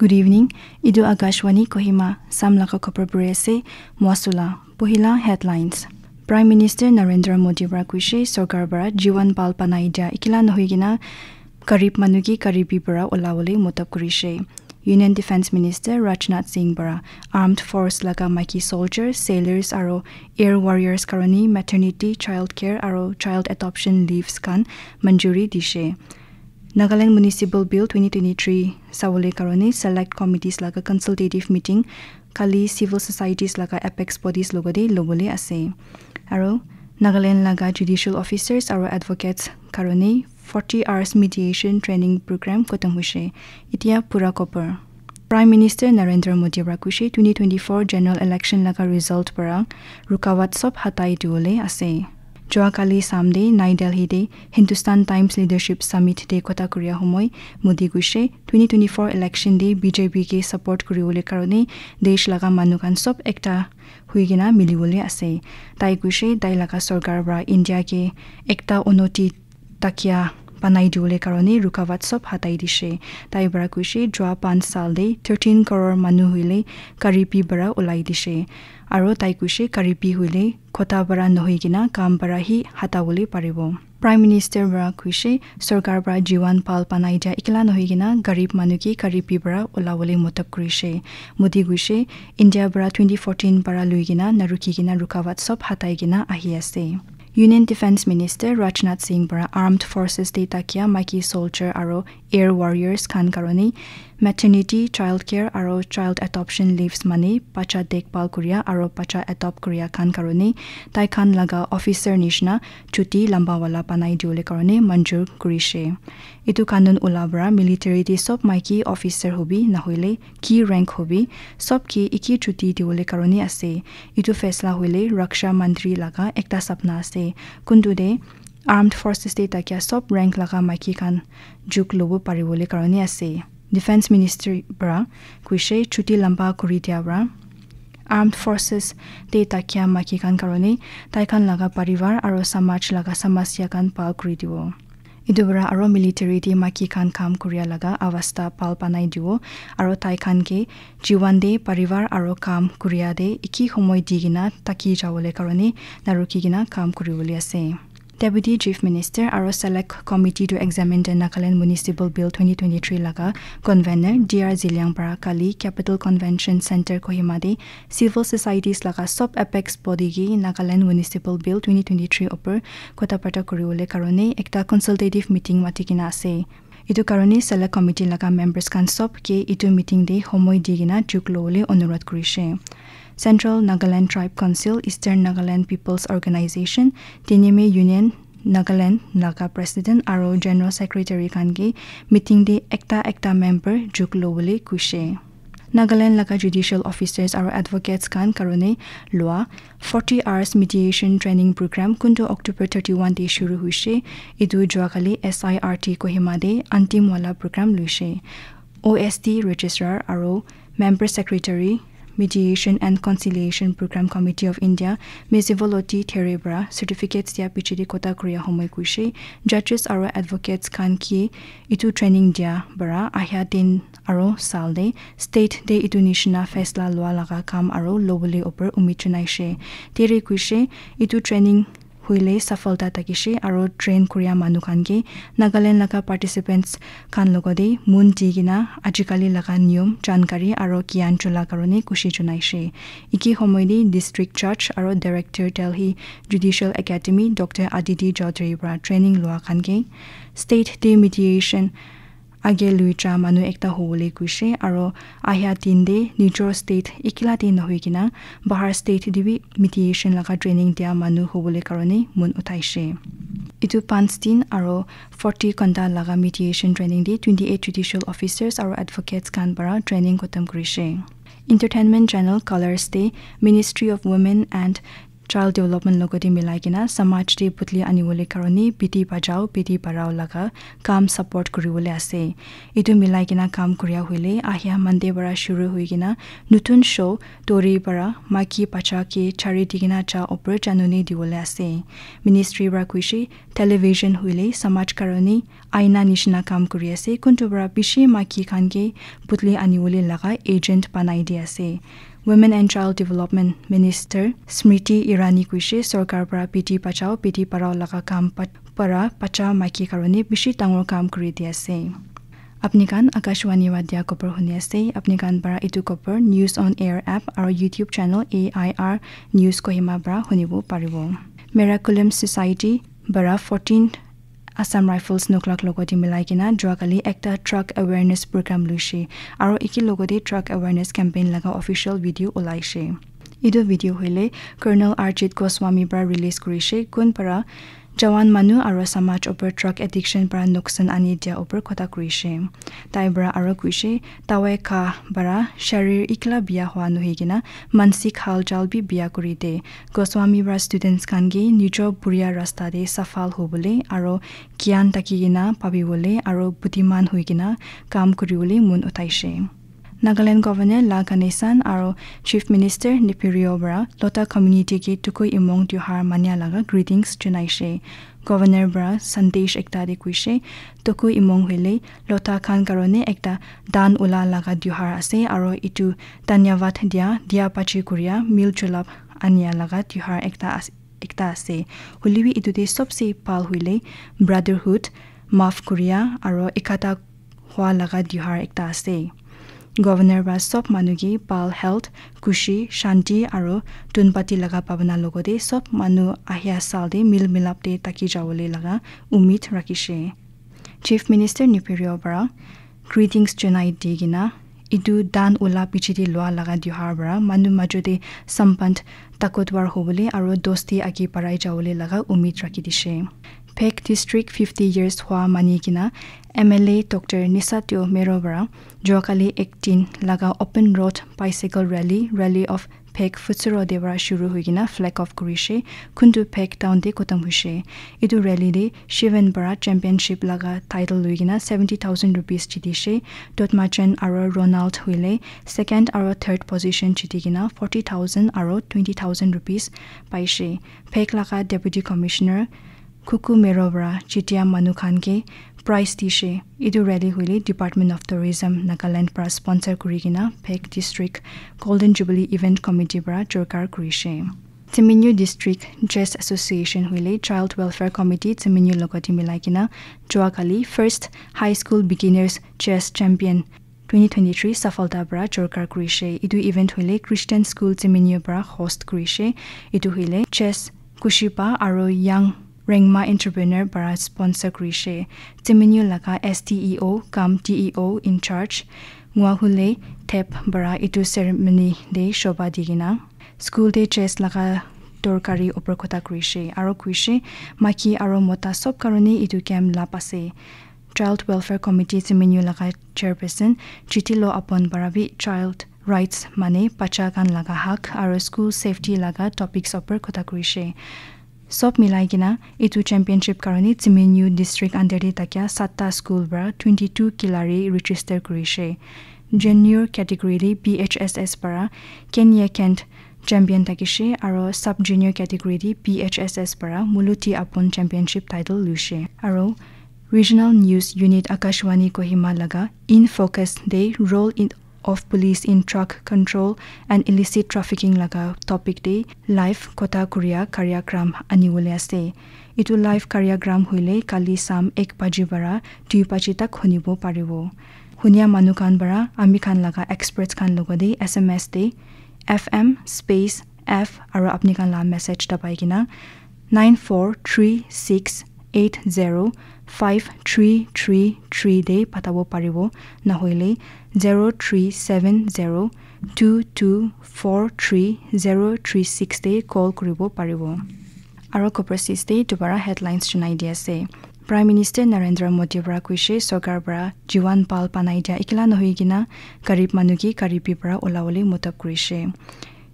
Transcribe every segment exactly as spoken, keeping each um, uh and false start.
Good evening. Etu Akashvani Kohima, Sam laga khobor puri ase, Mwasula. Pohila headlines. Prime Minister Narendra Modi para kuishe, sorkar para jiwan bhal banai dia ekila nohoi kena garib manu ke garibi para olawole motob kurishe. Union Defence Minister Rajnath Singh para Armed Force laga maiki soldier, sailors aro air warriors karone maternity, child care aro child adoption leaves khan manjuri dishe. Nagaland Municipal Bill twenty twenty-three sawole karone select committees laga consultative meeting kali civil societies laga apex bodies logode lobole ase. Aro Nagaland laga judicial officers aro advocates karone forty hours mediation training program khotom hoishe. Itia pura khobor. Prime Minister Narendra Modi para kuishe twenty twenty-four general election laga result para rukawat sob hatai diwole ase. Joa kali Sunday Nai Delhi te Hindustan Times Leadership Summit te kotha kuria homoi Modi kuishe twenty twenty-four election te B J P ke support kuriwole karone desh laga manu khan sob ekta hui kena miliwole ase. Tai kuishe tai laga sorkar para India ke ekta unoti takia banai diwole karone rukawat sob hatai dishe. Tai para kuishe joa panch sal te thirteen crore manu hoile garibi para olai dishe. Aro tai kuishe garibi hoile khota para nohoi kena kam para hi hatawole paribo. Prime Minister para kuishe sorkar para jiwan bhal banai dia ekila nohoi kena garib manu ke garibi para olawole motob kurishe. Modi kuishe India para twenty fourteen para lui kena narukhi kena rukawat sob hatai kena ahi ase. Union Defence Minister Rajnath Singh para Armed Forces te takia maiki soldier aro air warriors khan karone maternity, child care aro child adoption leaves mane bacha dekbhal kuria aro bacha adopt kuria khan karone tai khan laga officer nishina chuti lamba wala banai diwole karone manjur kurishe. Etu kanun ula para military te sob maiki officer hobi nahoile ki rank hobi sob ke eki chuti diwole karone ase. Etu faisla hoile Raksha Mantri laga ekta sapna ase. Kuntu te Armed Forces te takia sob rank laga maiki khan juk lobo pariwole karone ase. Defence Ministry para kuishe chuti lamba kuri dia para Armed Forces te takia maiki khan karone tai khan laga parivar aro samaj laga samasya khan bhal kuri dibo. Etu para aro military te maiki khan kam kuria laga avastha bhal banai dibo aro tai khan ke jiwan te parivar aro kam kuria te eki homoi di kena taki jawole karone narukhi kena kam kuriwole ase. Deputy Chief Minister aro Select Committee to Examine the Nagaland Municipal Bill twenty twenty-three laga convener D R Zeliang para kali Capital Convention Centre Kohima te civil societies laga sob apex body ke Nagaland Municipal Bill twenty twenty-three opor kotha bata kuriwole karone ekta consultative meeting mati kena ase. Etu karone Select Committee laga members khan sob ke etu meeting te homoi di kena juk lobole onurodh kurishe. Central Nagaland Tribe Council, Eastern Nagaland People's Organization, Tinime Union Nagaland laga President aro General Secretary khan ke meeting te ekta ekta member juk lobole kuishe. Nagaland laga judicial officers aro advocates khan karone lua forty hours mediation training program kuntu October thirty-one te shuru hoishe. Etu joa kali S I R T Kohima te antim wala program loishe. O S T Registrar aro Member Secretary, Mediation and Conciliation Program Committee of India, Miss Voloti There para certificates dia piche te kotha kuria homoi kuishe, judges aro advocates khan ke etu training dia para ahia din aro sal te state te etu nishina faisla lua laga kam aro lobole opor umid janaishe. Tere kuishe etu training hoile safalta thakishe aro train kuria manu khan ke Nagaland laga participants khan logode mon di kena ajikali laga niyom, jankari aro gyan chola karone khushi janaishe. Eki homoi te District Judge aro Director Delhi Judicial Academy Doctor Aditi Chaudhary para training lua khan ke state te mediation age lui ja manu ekta hobole kuishe aro ahia din te nijor state ekila te nohoi kena bahar state te bi mediation laga training dia manu hobole karone mon uthaishe. Etu panch din aro forty ghanta laga mediation training te twenty-eight judicial officers aro advocates khan para training khotom kurishe. Entertainment channel Colors te Ministry of Women and Child development logote milai kena samaj te putli aniwole karone beti bachao beti padhao laga kam support kuriwole ase. Etu milai kena kam kuria hoile ahia Monday para shuru hoi kena nutun show Tori para maiki bacha ke chari di kena cha opor janone diwole ase. Ministry para koise television hoile samaj karone aina nishina kam kuri ase. Kuntu para bishi maiki khan ke putli aniwole laga agent banai di ase. Women and Child Development Minister Smriti Irani koise sorkar para beti bachao beti padhao laga kam pat- para bacha maiki karone bishi dangor kam kuri di ase. Apni khan Akashvani wa dia khobor huni ase. Apni khan para etu khobor News on Air app aru YouTube channel A I R News Kohima para hunibo paribo. Miraculum Society para fourteen Assam Rifles Noklak logote milai kena juakali ekta truck awareness program luishe aru eki logote truck awareness campaign laga official video ulaishe. Etu video hoile Colonel Arjit Goswami para release kurishe, kun para jawan manu aru samaj opor drug addiction para nuksan ani dia opor kotha kurishe. Tai para aru kuishe, dawai kha para sharir ikla bia hua nohoi kena mansik halchal bi bia kuri de. Goswami para students khan ke nijo buria rasta te safal hobole aru gyan thaki kena pabibole aru butiman hoi kena kam kuribole mon uthaishe. Nagaland Governor La Ganesan aru Chief Minister Neiphiu Rio para Lotha community ke Tuku Imong Tiohar mania laga greetings junaishe. Governor para sandesh ekta te kuishe, Tuku Imong hoile Lotha khan karone ekta dan ula laga tiohar ase aru etu dhanyavad dia, dia pachi kuria, mil julap ania laga tiohar ekta as- ekta ase. Hoilebi etu te sobse bhal hoile brotherhood, maaf kuria aru ekata hua laga tiohar ekta ase. Governor para sob manu ke bhal health, khushi, shanti aru tunpati laga bhabana logote sob manu ahia saal te mil milap te thaki jabole laga umid rakhishe. Chief Minister Neiphiu Rio para greetings junai di kena etu dan ula piche te lua laga tiohar para manu majo te sambandh takotwar hobole aru dosti age barai jabole laga umid rakhi dishe. Phek District fifty years hua mani kena M L A Doctor Neiphiu Rio para juakali eighteen laga open road bicycle rally, Rally of Phek Pfutsero te para shuru hoi kena flag off kurishe, kuntu Phek town te khotom hoishe. Etu rally te Shivan para championship laga title loi kena seventy thousand rupees jitishe. Dotmachan aru Ronald hoile second aru third position jiti kena forty thousand aru twenty thousand rupees paishe. Phek laga Deputy Commissioner Kuku Mero para jitia manu khan ke prize dishe. Etu rally hoile Department of Tourism Nagaland para sponsor kuri kena Phek District Golden Jubilee Event Committee para jorkar kurishe. Tseminyu District Chess Association hoile Child Welfare Committee Tseminyu logote milai kena juakali First High School Beginners Chess Champion twenty twenty-three safalta para jorkar kurishe. Etu event hoile Christian School Tseminyu para host kurishe. Etu hoile Chess Kushipa aru Young Rengma Entrepreneur para sponsor kurishe. Tseminyu laga S D E O cum D E O in charge Nguahule Thep para etu ceremony te shoba di kena school te chess laga dorkari opor kotha kurishe aru kuishe maiki aru mota sob karone etu game lab ase. Child Welfare Committee Tseminyu laga chairperson Chitilo Apon para bi child rights mane bacha khan laga hak aru school safety laga topics opor kotha kurishe. Sob milai kena etu championship karone Tseminyu district under te thakia satta school para twenty two khilari register kurishe. Junior category te P H S S para Kenya Kent champion thakishe aru sub junior category te P H S S para Muluti Apon championship title luishe. Aru Regional News Unit Akashvani Kohima laga In Focus te role in of police in drug control and illicit trafficking laga topic te live kotha kuria karyagram aniwole ase. Etu live karyagram hoile kali sam ek baji para dui baji tak hunibo paribo. Hunia manu khan para ami khan laga experts khan logote S M S te F M space F aru apni khan la message dabai kena nine four three six eight zero five three three three te patabo paribo, nahoile zero three seven zero two two four three zero three six te call kuribo paribo. Aro khopor sis te dubara headlines junai di ase. Prime Minister Narendra Modi para koishe, sorkar para jiwan bhal banai dia ekla nohoi kena garib manu ke garibi para olawole motob kurishe.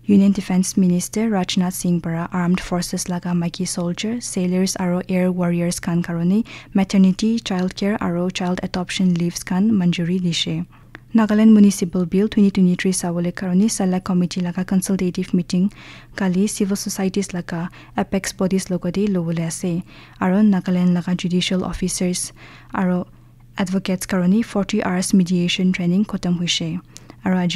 Union Defense Minister Rajnath Singh para armed forces laga maiki soldier, sailors aro air warriors khan karone maternity, child care aro child adoption leaves khan manjuri dishe. Nagaland Municipal Bill twenty twenty-three sabole karone Select Committee laga consultative meeting kali civil societies laga apex bodies logate lobole ase, aro Nagaland laga judicial officers aro advocates karone forty hours mediation training khotom hoishe. Aro aji